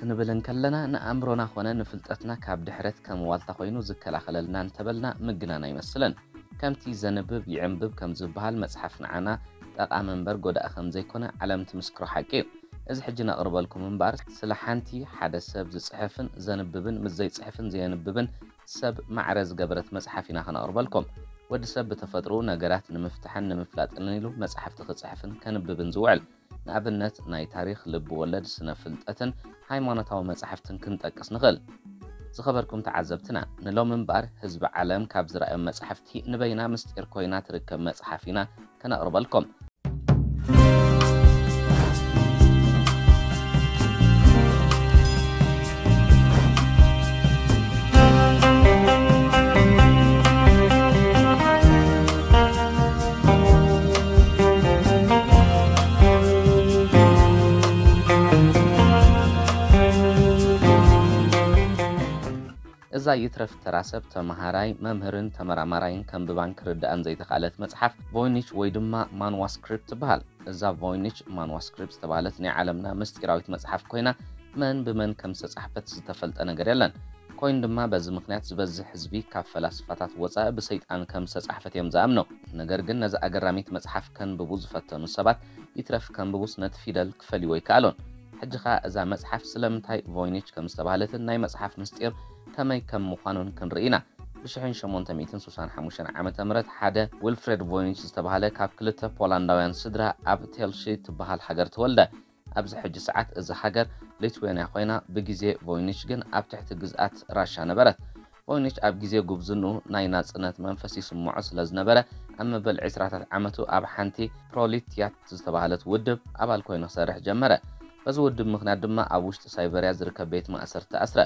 ንብል እንከለና ንኣእምሮና ኾነ ንፍልጠትና ካብ ድሕረት ከም ዋልታ ኮይኑ ዝከላኸለልና እንተበልና ምግናን ኣይመስልን። ከምቲ ዘንብብ ይዕንብብ ከም ዝበሃል መጽሓፍ ንዓና ጠቓሚ እምበር ጎዳኢ ከም ዘይኮነ ዓለም ትምስክሮ ሓቂ እዩ። እዚ ሕጂ ነቕርበልኩም እምበኣር ስለ ሓንቲ ሓደ ሰብ ዝጽሕፍን ዘንብብን ምስ ዘይጽሕፍን ዘየንብብን ሰብ ማዕረ ዝገበረት መጽሓፍ ኢና ከነቕርበልኩም። ወዲ ሰብ ብተፈጥሮኡ ነገራት ንምፍታሕን ንምፍላጥን ኢሉ መጽሓፍቲ ክጽሕፍን ከንብብን ዝውዕል። ንኣብነት ናይ ታሪኽ፣ ልብ ወለድ፣ ስነ ፍልጠትን ሃይማኖታዊ መጻሕፍትን ክንጠቅስ ንኽእል። ዝኸበርኩም ተዓዘብትና፣ ንሎም እምበኣር ህዝቢ ዓለም ካብ ዝረኣዮም መጻሕፍቲ ንበይና ምስጢር ኮይና ትርከብ መጽሓፍ ኢና ከነቕርበልኩም። እዛ ይትረፍ ተራ ሰብ ተመሃራይ፣ መምህርን ተመራማራይን ከንብባን ክርድኣን ዘይተኻእለት መጽሓፍ ቮይኒች ወይ ድማ ማንዋስክሪፕት ትበሃል። እዛ ቮይኒች ማንዋስክሪፕት ዝተባህለት ናይ ዓለምና ምስጢራዊት መጽሓፍ ኮይና፣ መን ብመን ከም ዝተጻሕፈት ዝተፈልጠ ነገር የለን። ኮይኑ ድማ በዚ ምኽንያት ዝበዝሕ ህዝቢ ካብ ፈላስፋታት ወጻኢ ብሰይጣን ከም ዝተጻሕፈት እዮም ዝኣምኑ። ነገር ግን ነዛ ኣገራሚት መጽሓፍ ከንብቡ ዝፈተኑ ሰባት ይትረፍ ከንብቡስ ነቲ ፊደል ክፈልይዎ ኣይከኣሉን። ሕጂ ኸኣ እዛ መጽሓፍ ስለምንታይ ቮይኒች ከም ዝተባህለትን ናይ መጽሓፍ ምስጢር ከመይ ከም ምዃኑን ክንርኢ ኢና። ብ ሸሞንተ ሚእትን ስሳን ሓሙሽተን ዓመተ ምህረት ሓደ ዊልፍሬድ ቮይኒች ዝተባህለ ካብ ክልተ ፖላንዳውያን ስድራ ኣብ ቴልሺ ትበሃል ሃገር ተወልደ። ኣብዚ ሕጂ ሰዓት እዛ ሃገር ሊትዌንያ ኮይና፣ ብግዜ ቮይኒች ግን ኣብ ትሕቲ ግዝኣት ራሻ ነበረት። ቮይኒች ኣብ ግዜ ጉብዝንኡ ናይ ናጽነት መንፈስ ይስምዖ ስለ ዝነበረ፣ ኣብ መበል ዕስራታት ዓመቱ ኣብ ሓንቲ ፕሮሊትያት ዝተባህለት ውድብ ኣባል ኮይኑ ክሰርሕ ጀመረ። በዚ ውድብ ምኽንያት ድማ ኣብ ውሽጢ ሳይበርያ ዝርከብ ቤት ማእሰርቲ ተኣስረ።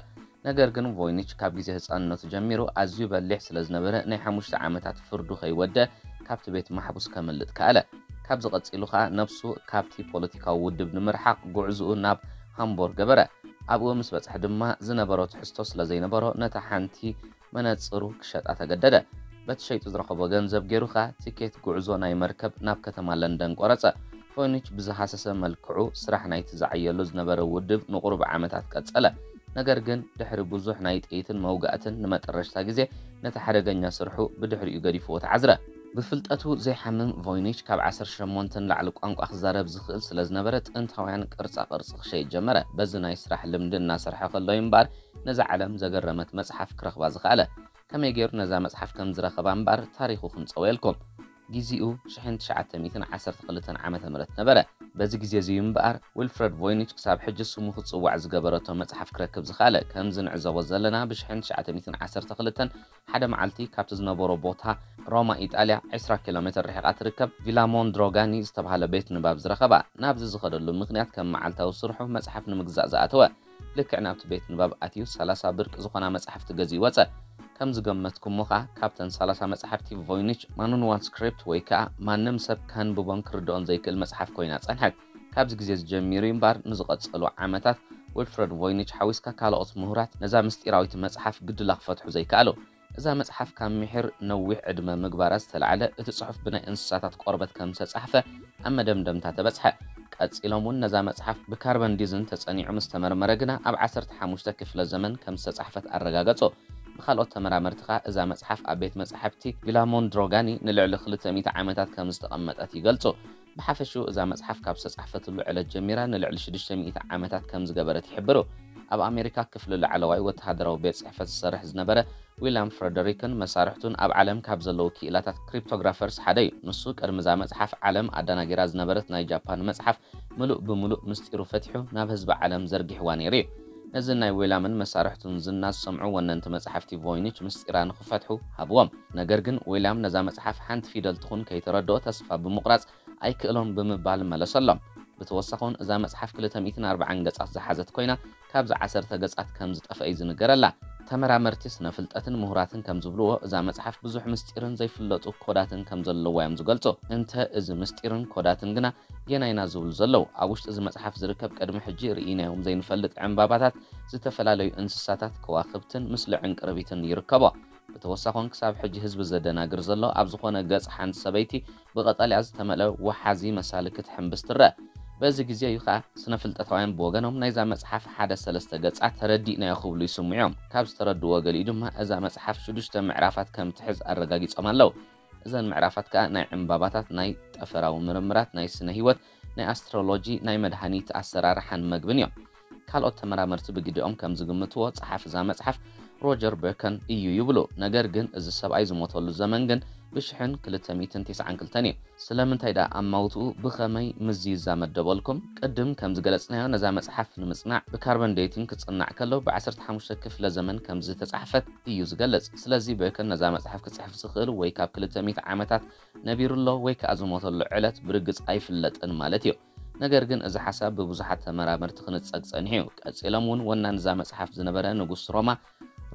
ነገር ግን ቮይኒች ካብ ግዜ ህጻንነቱ ጀሚሩ ኣዝዩ በሊሕ ስለ ዝነበረ፣ ናይ ሓሙሽተ ዓመታት ፍርዱ ከይወደ ካብቲ ቤት ማሕቡስ ከምልጥ ከኣለ። ካብዚ ቀጺሉ ኸኣ ነብሱ ካብቲ ፖለቲካዊ ውድብ ንምርሓቕ ጉዕዝኡ ናብ ሃምቦርግ ገበረ። ኣብኡ ምስ በጽሐ ድማ ዝነበሮ ትሕዝቶ ስለ ዘይነበሮ ነታ ሓንቲ መነጽሩ ክሸጣ ተገደደ። በቲ ሸይጡ ዝረኸቦ ገንዘብ ገይሩ ኸኣ ቲኬት ጉዕዞ ናይ መርከብ ናብ ከተማ ለንደን ቆረጸ። ቮይኒች ብዝሃሰሰ መልክዑ ስራሕ ናይቲ ዝዓየሉ ዝነበረ ውድብ ንቁሩብ ዓመታት ቀጸለ። ነገር ግን ድሕሪ ብዙሕ ናይ ጥይትን መውጋእትን ንመጠረሽታ ግዜ ነቲ ሓደገኛ ስርሑ ብድሕሪኡ ገዲፍዎ ተዓዝረ። ብፍልጠቱ ዘይሓምም ቮይኒች ካብ ዓሰርተ ሸሞንተ ንላዕሊ ቋንቋ ክዛረብ ዝኽእል ስለ ዝነበረ ጥንታውያን ቅርጻ ቅርጺ ክሸይጥ ጀመረ። በዚ ናይ ስራሕ ልምዲ እናሰርሐ ከሎ እዩ እምበኣር ነዛ ዓለም ዘገረመት መጽሓፍ ክረኽባ ዝኸኣለ። ከመይ ገይሩ ነዛ መጽሓፍ ከም ዝረኸባ እምበኣር ታሪኹ ክንጸውየልኩም። ግዜኡ ሽሕን ትሽዓተ ሚእትን ዓሰርተ ክልተን ዓመተ ምህረት ነበረ። በዚ ግዜ እዚ እዩ እምበኣር ዊልፍረድ ቮይኒች ክሳብ ሕጂ ስሙ ክጽዋዕ ዝገበረቶ መጽሓፍ ክረክብ ዝኸኣለ። ከምዚ ንዕዘቦ ዘለና ብሽሕን ትሽዓተ ሚእትን ዓሰርተ ክልተን ሓደ መዓልቲ ካብቲ ዝነበሮ ቦታ ሮማ ኢጣልያ ዕስራ ኪሎ ሜትር ርሒቓ ትርከብ ቪላ ሞንድሮጋኒ ዝተባህለ ቤት ንባብ ዝረኸባ። ናብዚ ዝኸደሉ ምኽንያት ከም መዓልታዊ ስርሑ መጽሓፍ ንምግዛእ ዝኣተወ። ልክዕ ናብቲ ቤት ንባብ ኣትዩ ሰላሳ ብርቂ ዝኾና መጻሕፍቲ ገዚኡ ወጸ። ከም ዝገመትኩሞ ኸኣ ካብተን ሰላሳ መጻሕፍቲ ቮይኒች ማኑንዋል ስክሪፕት ወይ ከኣ ማንም ሰብ ከንብቦን ክርድኦን ዘይክእል መጽሓፍ ኮይና ጸንሐት። ካብዚ ግዜ እዚ ጀሚሩ እምበኣር ንዝቐጸሉ ዓመታት ዊልፍረድ ቮይኒች ሓዊስካ ካልኦት ምሁራት ነዛ ምስጢራዊት መጽሓፍ ግድላ ክፈትሑ ዘይከኣሉ። እዛ መጽሓፍ ካብ ምሒር ነዊሕ ዕድመ ምግባራ ዝተላዕለ እቲ ጽሑፍ ብናይ እንስሳታት ቆርበት ከም ዝተጻሕፈ ኣብ መደምደምታ ተበጽሐ። ቀጺሎም እውን ነዛ መጽሓፍ ብካርበን ዲዝን ተጸኒዑ ምስ ተመርመረ ግና ኣብ ዓሰርተ ሓሙሽተ ክፍለ ዘመን ከም ዝተጻሕፈት ኣረጋገጹ። ብኻልኦት ተመራመርቲ ኸኣ እዛ መጽሓፍ ኣብ ቤት መጻሕፍቲ ቪላ ሞንድሮጋኒ ንልዕሊ ክልተ ሚእቲ ዓመታት ከም ዝተቐመጠት ይገልጹ። ብሓፈሽኡ እዛ መጽሓፍ ካብ ዝተጻሕፈትሉ ዕለት ጀሚራ ንልዕሊ ሽዱሽተ ሚእቲ ዓመታት ከም ዝገበረት ይሕብሩ። ኣብ ኣሜሪካ ክፍሊ ላዕለዋይ ወተሃደራዊ ቤት ጽሕፈት ዝሰርሕ ዝነበረ ዊልያም ፍረደሪክን መሳርሕቱን ኣብ ዓለም ካብ ዘለዉ ክኢላታት ክሪፕቶግራፈርስ ሓደ እዩ። ንሱ ቅድሚ እዛ መጽሓፍ ዓለም ኣደናጊራ ዝነበረት ናይ ጃፓን መጽሓፍ ምሉእ ብምሉእ ምስጢሩ ፈቲሑ ናብ ህዝቢ ዓለም ዘርጊሕዋ ነይሩ እዩ። ነዚ ናይ ዊልያምን መሳርሕቱን ዝና ዝሰምዑ ወነንቲ መጻሕፍቲ ቮይኒች ምስጢራ ንኽፈትሑ ሃብዎም። ነገር ግን ዊልያም ነዛ መጽሓፍ ሓንቲ ፊደል ትኹን ከይተረድኦ ተስፋ ብምቑራጽ ኣይክእሎን ብምባል መለሰሎም። ብተወሳኺ እውን እዛ መጽሓፍ ክልተ ሚእትን ኣርባዓን ገጻት ዝሓዘት ኮይና ካብዚ ዓሰርተ ገጻት ከም ዝጠፍአ እዩ ዝንገረላ። ተመራመርቲ ስነ ፍልጠትን ምሁራትን ከም ዝብልዎ እዛ መጽሓፍ ብዙሕ ምስጢርን ዘይፍለጡ ኮዳትን ከም ዘለዋ እዮም ዝገልጹ። እንተ እዚ ምስጢርን ኮዳትን ግና የናይና ዝብሉ ዘለዉ ኣብ ውሽጢ እዚ መጽሓፍ ዝርከብ ቅድሚ ሕጂ ርኢናዮም ዘይንፈልጥ ዕምባባታት፣ ዝተፈላለዩ እንስሳታት፣ ከዋኽብትን ምስሊ ዕንቅርቢትን ይርከቦ። ብተወሳኺ እውን ክሳብ ሕጂ ህዝቢ ዘደናግር ዘሎ ኣብ ዝኾነ ገጽ ሓንቲ ሰበይቲ ብቐጠልያ ዝተመልአ ወሓዚ መሳሊ ክትሕምብስ ትረአ። በዚ ግዜ እዩ ከዓ ስነ ፍልጠታውያን ብወገኖም ናይዛ መጽሓፍ ሓደ ሰለስተ ገጻት ተረዲእናዮ ክብሉ ይስምዑ እዮም። ካብ ዝተረድዎ ገሊኡ ድማ እዛ መጽሓፍ ሽዱሽተ ምዕራፋት ከም ትሕዝ ኣረጋጊጾም ኣለዉ። እዘን ምዕራፋት ከዓ ናይ ዕምባባታት፣ ናይ ጠፈራዊ ምርምራት፣ ናይ ስነ ህይወት፣ ናይ ኣስትሮሎጂ፣ ናይ መድሃኒት ኣሰራርሓን መግብን እዮም። ካልኦት ተመራመርቲ ብግዲኦም ከም ዝግምትዎ ጸሓፊ እዛ መጽሓፍ ሮጀር በርከን እዩ ይብሉ። ነገር ግን እዚ ሰብኣይ ዝሞተሉ ዘመን ግን ብሽሕን ክልተ ሚእትን ተስዓን ክልተን እዩ። ስለምንታይ ደኣ ኣማውትኡ ብኸመይ ምስዚ ይዛመድ ደበልኩም? ቅድም ከም ዝገለጽናዮ ነዛ መጽሓፍ ንምጽናዕ ብካርበን ዴቲንግ ክጽናዕ ከሎ ብ ዓሰርተ ሓሙሽተ ክፍለ ዘመን ከም ዝተጻሕፈት እዩ ዝገልጽ። ስለዚ በርከን ነዛ መጽሓፍ ክጽሕፍ ዝኽእል ወይ ካብ ክልተ ሚእቲ ዓመታት ነቢሩ ኣሎ ወይ ከኣ ዝሞተሉ ዕለት ብርግጽ ኣይፍለጥን ማለት እዩ። ነገር ግን እዚ ሓሳብ ብብዙሓት ተመራመርቲ ክንጸግ ጸኒሑ እዩ። ቀጺሎም እውን ወናን እዛ መጽሓፍ ዝነበረ ንጉስ ሮማ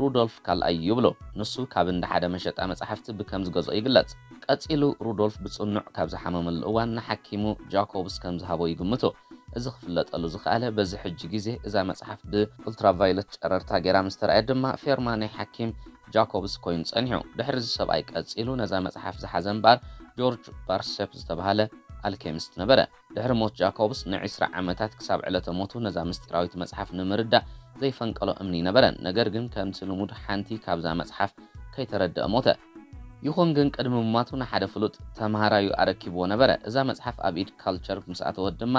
ሩዶልፍ ካልኣይ ይብሉ። ንሱ ካብ እንዳ ሓደ መሸጣ መጻሕፍቲ ብከም ዝገዝኦ ይግለጽ። ቀጺሉ ሩዶልፍ ብጽኑዕ ካብ ዝሓመመሉ እዋን ንሓኪሙ ጃኮብስ ከም ዝሃቦ ይግምቱ። እዚ ክፍለጠሉ ዝኸኣለ በዚ ሕጂ ግዜ እዛ መጽሓፍ ብኡልትራቫዮለት ጨረርታ ገይራ ምስ ተራእየት ድማ ፌርማ ናይ ሓኪም ጃኮብስ ኮይኑ ጸኒሑ። ድሕሪ እዚ ሰብኣይ ቀጺሉ ነዛ መጽሓፍ ዝሓዘ እምበኣር ጆርጅ ባርሴፕ ዝተባህለ ኣልኬሚስት ነበረ። ድሕሪ ሞት ጃኮብስ ንዒስራ ዓመታት ክሳብ ዕለተ ሞቱ ነዛ ምስጢራዊት መጽሓፍ ንምርዳእ ዘይፈንቀሎ እምኒ ነበረ። ነገር ግን ከምቲ ልሙድ ሓንቲ ካብዛ መጽሓፍ ከይተረድአ ሞተ። ይኹን ግን ቅድሚ ምማቱ ንሓደ ፍሉጥ ተምሃራዩ ኣረኪብዎ ነበረ። እዛ መጽሓፍ ኣብ ኢድ ካልቸር ምስ ኣተወት ድማ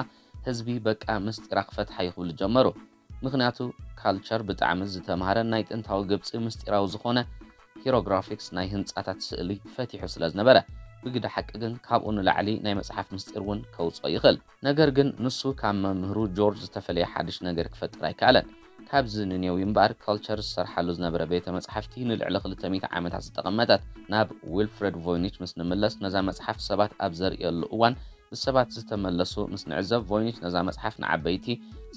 ህዝቢ በቃ ምስጢራ ክፈትሓ እዩ ክብሉ ጀመሩ። ምኽንያቱ ካልቸር ብጣዕሚ ዝተምሃረ ናይ ጥንታዊ ግብጺ ምስጢራዊ ዝኾነ ሂሮግራፊክስ ናይ ህንጻታት ስእሊ ፈቲሑ ስለ ዝነበረ። ብግዳ ሓቂ ግን ካብኡ ንላዕሊ ናይ መጽሓፍ ምስጢር እውን ከውጽኦ ይኽእል። ነገር ግን ንሱ ካብ መምህሩ ጆርጅ ዝተፈለየ ሓድሽ ነገር ክፈጥር ኣይከኣለን። ካብዚ ንኔዊ እምበኣር ካልቸር ዝሰርሓሉ ዝነበረ ቤተ መጻሕፍቲ ንልዕሊ ክልተ ሚእቲ ዓመታት ዝተቐመጠት። ናብ ዊልፍሬድ ቮይኒች ምስ ንምለስ ነዛ መጽሓፍ ሰባት ኣብ ዘርእየሉ እዋን ብሰባት ዝተመለሱ ምስ ንዕዘብ ቮይኒች ነዛ መጽሓፍ ንዓበይቲ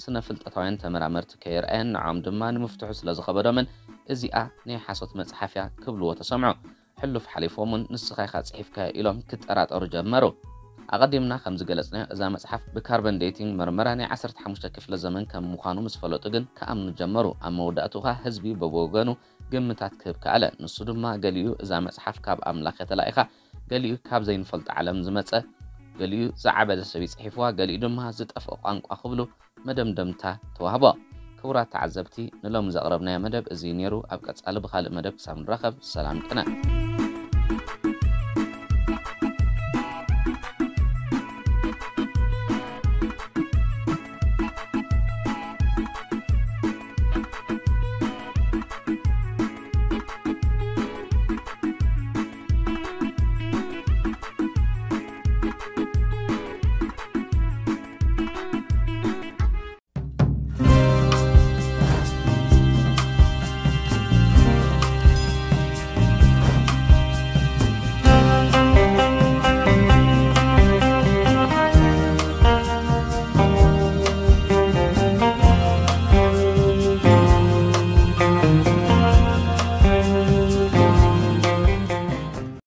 ስነ ፍልጠታውያን ተመራመርቲ ከየርኣየን ንዖም ድማ ንምፍትሑ ስለ ዝኸበዶምን እዚኣ ናይ ሓሶት መጽሓፍ እያ ክብልዎ ተሰምዑ። ሕሉፍ ሓሊፎም እውን ንስኻ ኢኻ ጽሒፍካዮ ኢሎም ክጠራጠሩ ጀመሩ። ኣቐዲምና ከም ዝገለጽናዮ እዛ መጽሓፍ ብካርበን ዴቲንግ መርመራ ናይ ዓሰርተ ሓሙሽተ ክፍለ ዘመን ከም ምዃኑ ምስ ፈለጡ ግን ክኣምኑ ጀመሩ። ኣብ መወዳእቱ ኸኣ ህዝቢ በብወገኑ ግምታት ክህብ ከኣለ። ንሱ ድማ ገሊኡ እዛ መጽሓፍ ካብ ኣምላኽ እያ ተላኢኻ፣ ገሊኡ ካብ ዘይንፈልጦ ዓለም ዝመጸ፣ ገሊኡ ዝዓበደ ሰብ እዩ ጽሒፍዋ፣ ገሊኡ ድማ ዝጠፍኦ ቋንቋ ክብሉ መደምደምታ ተዋህቦ። ክቡራት ተዓዘብቲ፣ ንሎሚ ዘቕረብናዮ መደብ እዚ እዩ ነይሩ። ኣብ ቀጻሊ ብኻልእ መደብ ክሳብ ንራኸብ ሰላም ቅነ።